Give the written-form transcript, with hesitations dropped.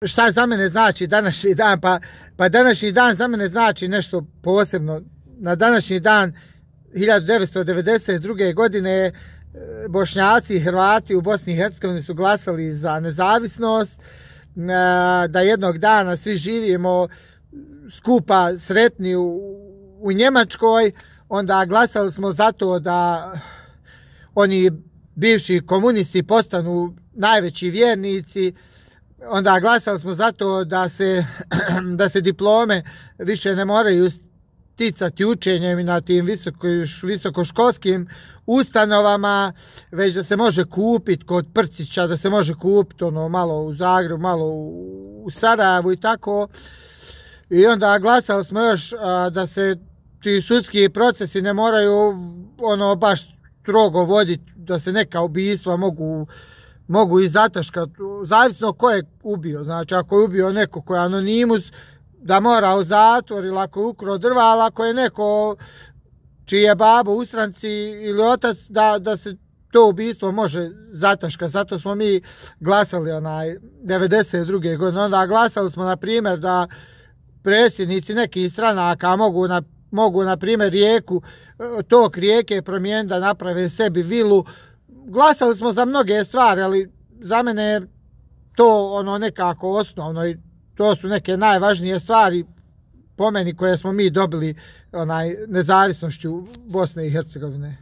Šta za mene znači današnji dan? Pa današnji dan za mene znači nešto posebno. Na današnji dan 1992. godine Bošnjaci i Hrvati u Bosni i Hercegovini su glasali za nezavisnost, da jednog dana svi živimo skupa sretni u Njemačkoj. Onda glasali smo za to da oni bivši komunisti postanu najveći vjernici. Onda glasali smo za to da se diplome više ne moraju sticati učenjem na tim visokoškolskim ustanovama, već da se može kupiti kod Prcića, da se može kupiti malo u Zagrebu, malo u Sarajevu i tako. I onda glasali smo još da se ti sudski procesi ne moraju baš strogo voditi, da se neka ubistva mogu i zataškati, zavisno ko je ubio. Znači, ako je ubio neko ko je anonimus, da mora u zatvor, ili ako je ukrao drva, ali ako je neko čiji je babo u stranci ili otac, da se to ubistvo može zataškati. Zato smo mi glasali 92. godine. Onda glasali smo, na primjer, da predsjednici nekih stranaka mogu na primjer, tok rijeke promijeniti, da naprave sebi vilu. Glasali smo za mnoge stvari, ali za mene je to nekako osnovno i to su neke najvažnije stvari po meni koje smo mi dobili nezavisnošću Bosne i Hercegovine.